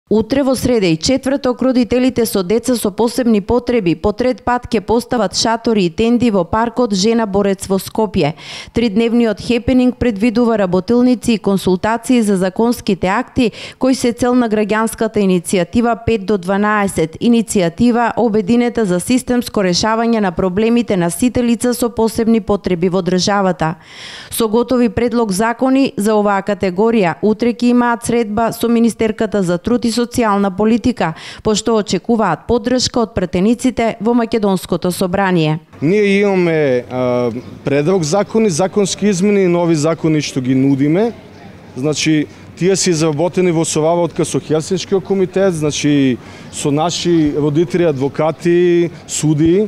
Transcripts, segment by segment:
Утре во среда и четврток родителите со деца со посебни потреби по трет пат ќе постават шатори и тенди во паркот Жена Борец во Скопје. Тридневниот хепенинг предвидува работилници и консултации за законските акти кои се цел на граѓанската иницијатива 5 до 12, иницијатива обединета за системско решавање на проблемите на сите лица со посебни потреби во државата. Со готови предлог закони за оваа категорија утре ќе имаат средба со министерката за труд и социјална политика, пошто очекуваат поддршка од пратениците во Македонското собрание. Ние имаме предлог закони, законски измени и нови закони што ги нудиме. Значи, тие се изработени во соваводка со Хелсиншкиот комитет, значи со наши родители, адвокати, суди.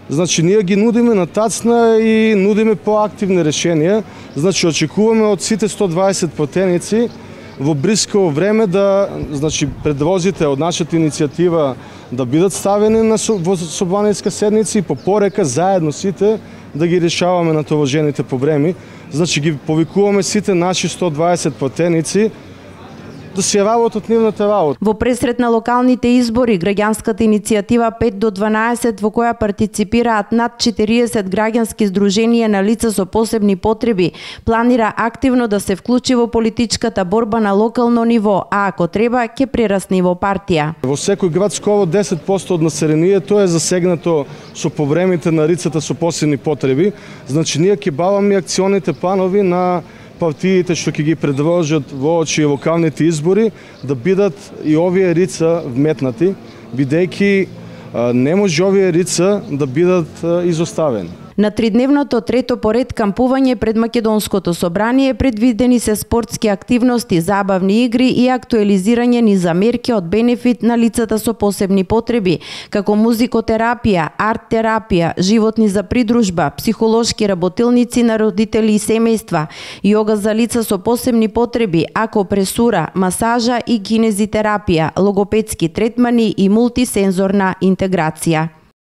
Значи, ние ги нудиме на тацна и нудиме поактивни решенија. Значи, очекуваме од сите 120 пратеници во блиско време да, значи, предлозите од нашата иницијатива да бидат ставени во собраниска седница и по порека заедно сите да ги решаваме натоваржените проблеми. Значи, ги повикуваме сите наши 120 пратеници да се работат нивната работа. Во пресрет на локалните избори, граѓанската иницијатива 5 до 12, во која партиципираат над 40 граѓански здруженија на лица со посебни потреби, планира активно да се вклучи во политичката борба на локално ниво, а ако треба, ќе прерасне во партија. Во секој град скоро 10% од населението е засегнато со проблемите на лицата со посебни потреби. Значи, ние ќе баваме акционите планови на партиите што ќе ги предложат во очи локалните избори да бидат и овие лица вметнати, бидејќи не може овие лица да бидат изоставени. На тридневното трето поред кампување пред Македонското собрание предвидени се спортски активности, забавни игри и актуализирање низ мерки од бенефит на лицата со посебни потреби, како музикотерапија, арт-терапија, животни за придружба, психолошки работилници на родители и семејства, јога за лица со посебни потреби, акупресура, масажа и кинезитерапија, логопедски третмани и мултисензорна интеграција.